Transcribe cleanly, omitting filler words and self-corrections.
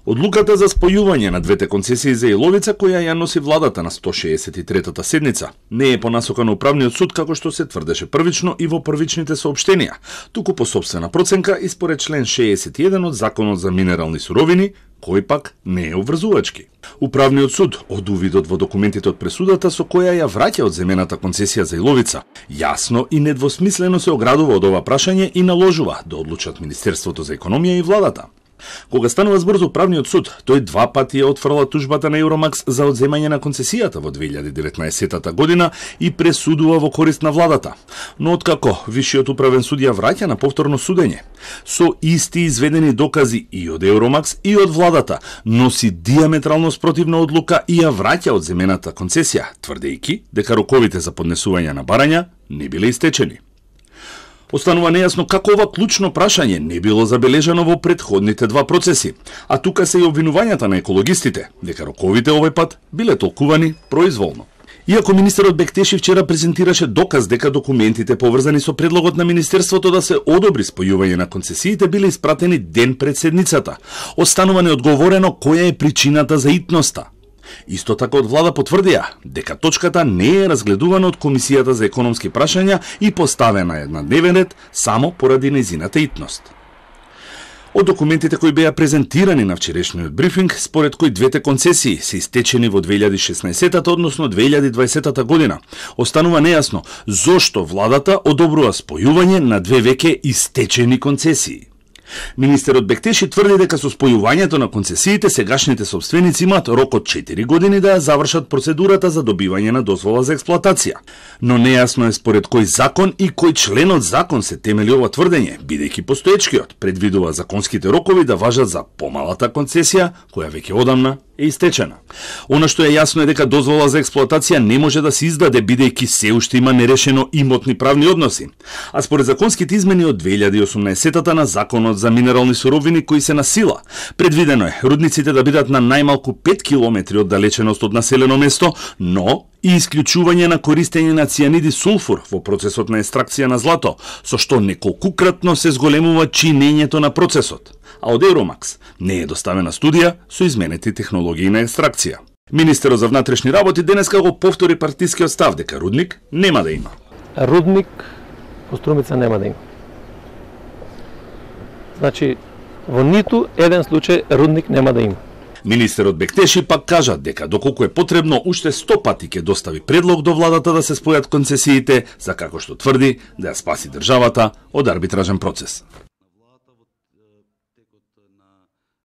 Одлуката за спојување на двете концесии за Иловица, која ја носи владата на 163-та седница, не е по насока на управниот суд како што се тврдеше првично и во првичните соопштенија, туку по сопствена проценка и според член 61 од Законот за минерални суровини, кој пак не е обврзувачки. Управниот суд од увидот во документите од пресудата со која ја враќа од земената концесија за Иловица, јасно и недвосмислено се оградува од ова прашање и наложува да одлучат Министерството за економија и владата. Кога станува збор за управниот суд, тој два пати ја отфрла тужбата на Евромакс за одземање на концесијата во 2019 година и пресудува во корист на владата. Но откако Висшиот управен суд ја враќа на повторно судење, со исти изведени докази и од Евромакс и од владата, носи диаметрално спротивна одлука и ја враќа од земената концесија, тврдејќи дека роковите за поднесување на барања не биле истечени. Останува нејасно како ова клучно прашање не било забележано во претходните два процеси, а тука се и обвинувањата на екологистите, дека роковите овој пат биле толкувани произволно. Иако министерот Бектеши вчера презентираше доказ дека документите поврзани со предлогот на Министерството да се одобри спојување на концесиите биле испратени ден пред седницата, останува неодговорено која е причината за итноста. Исто така од влада потврдија дека точката не е разгледувана од Комисијата за економски прашања и поставена на дневен ред само поради нејзината итност. Од документите кои беа презентирани на вчерашниот брифинг, според кои двете концесии се истечени во 2016 односно 2020 година, останува нејасно зошто владата одобрува спојување на две веќе истечени концесии. Министерот Бектеши тврди дека со спојувањето на концесиите сегашните сопственици имаат рок од 4 години да ја завршат процедурата за добивање на дозвола за експлоатација. Но нејасно е според кој закон и кој член од закон се темели ова тврдење, бидејќи постоечкиот предвидува законските рокови да важат за помалата концесија, која веќе одамна е истечена. Она што е јасно е дека дозвола за експлоатација не може да се издаде бидејќи се уште има нерешено имотни правни односи. А според законските измени од 2018 на Законот за минерални суровини кои се на сила, предвидено е рудниците да бидат на најмалку 5 километри од далеченост од населено место, но и исклучување на користење на цијаниди сулфур во процесот на екстракција на злато, со што неколкукратно се зголемува чинењето на процесот. А од Евромакс не е доставена студија со изменети технологии на екстракција. Министерот за внатрешни работи денеска го повтори партискиот став дека рудник нема да има. Рудник во Струмица нема да има. Значи, во ниту еден случај рудник нема да има. Министерот Бектеши пак кажа дека доколку е потребно уште 100 пати ќе достави предлог до владата да се спојат концесиите, за како што тврди да ја спаси државата од арбитражен процес.